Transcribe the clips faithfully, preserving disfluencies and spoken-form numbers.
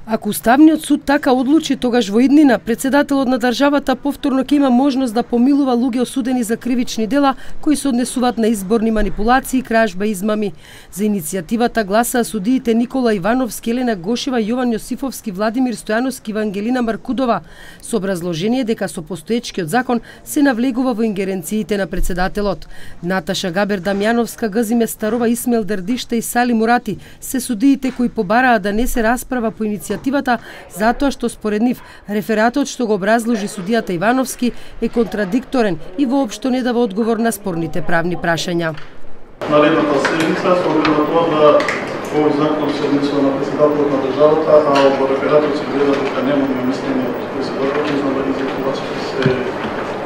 Ако Уставниот суд така одлучи, тогаш во иднина председателот на државата повторно ќе има можност да помилува луѓе осудени за кривични дела кои се однесуваат на изборни манипулации, кражба и измами. За иницијативата гласаа судиите Никола Ивановски, Елена Гошева, Јован Јосифовски, Владимир Стојановски и Вангелина Маркудова, со образложение дека со постоечкиот закон се навлегува во ингеренциите на председателот. Наташа Габер Дамјановска, Газиме Старова, Исмел Дердишта и Сали Мурати се судиите кои побараа да не се расправа по иницијативата затоа што според нив рефератот што го образложи судијата Ивановски е контрадикторен и воопшто не дава одговор на спорните правни прашања. Наредната седница со оглед на тоа да овој закон се однесува на председателот на државата, а во рефератот се гледа дека немаме мислење од председателот, не знам дали за се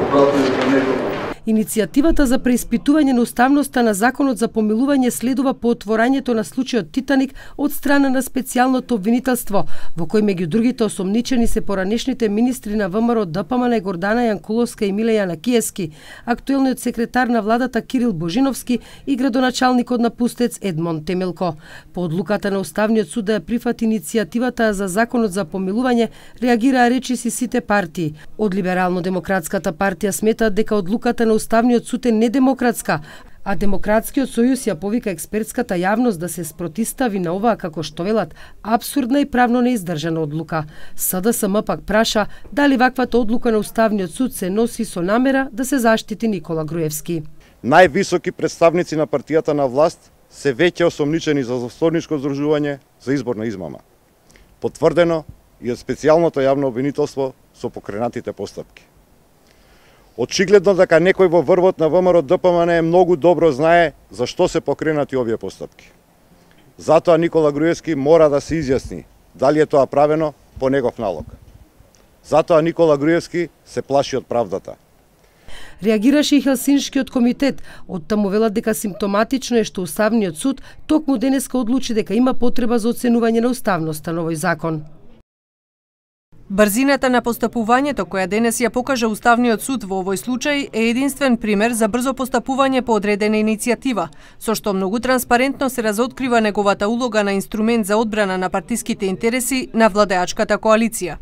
обратно за него. Иницијативата за преиспитување на уставноста на законот за помилување следува по отворањето на случајот Титаник од страна на специјалното обвинителство, во кој меѓу другите осомничени се поранешните министри на ВМРО ДПМН Гордана Јанкуловска и Милејана Киески, актуелниот секретар на владата Кирил Божиновски и градоначалникот на Пустец Едмон Темелко. По одлуката на Уставниот суд да ја прифати иницијативата за законот за помилување, реагираа речиси сите партии. Од Либерално-демократската партија сметаат дека одлуката на Уставниот суд е недемократска, а Демократскиот сојуз ја повика експертската јавност да се спротистави на оваа, како што велат, абсурдна и правно неиздржана одлука. СДСМ пак праша дали ваквата одлука на Уставниот суд се носи со намера да се заштити Никола Груевски. Највисоки представници на партијата на власт се веќе осомничени за засторничко здружување за изборна измама. Потврдено и од специјалното јавно обвинителство со покренатите постапки. Очигледно дека некој во врвот на ВМРО ДПМН многу добро знае за што се покренати овие постапки. Затоа Никола Груевски мора да се изјасни дали е тоа правено по негов налог. Затоа Никола Груевски се плаши од правдата. Реагираше и Хелсиншкиот комитет. Од таму велат дека симптоматично е што Уставниот суд токму денеска одлучи дека има потреба за оценување на уставноста на овој закон. Брзината на постапувањето која денес ја покажа Уставниот суд во овој случај е единствен пример за брзо постапување по одредена иницијатива, со што многу транспарентно се разоткрива неговата улога на инструмент за одбрана на партиските интереси на владеачката коалиција.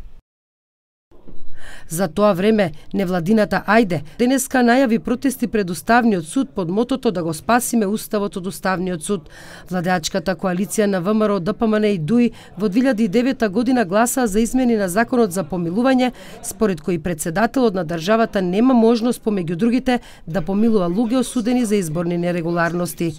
За тоа време, невладината Ајде денеска најави протести пред Уставниот суд под мотото да го спасиме Уставот од Уставниот суд. Владеачката коалиција на ВМРО ДПМН и ДУИ во две илјади и девета година гласаа за измени на законот за помилување, според кои председателот на државата нема можност помеѓу другите да помилува луѓе осудени за изборни нерегуларности.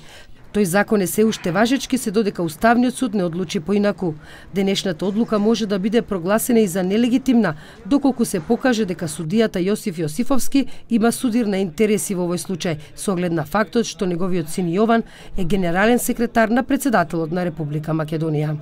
Тој закон е се уште важечки се додека Уставниот суд не одлучи поинаку. Денешната одлука може да биде прогласена и за нелегитимна, доколку се покаже дека судијата Јосиф Јосифовски има судир на интереси во овој случај, со оглед на фактот што неговиот син Јован е генерален секретар на председателот на Република Македонија.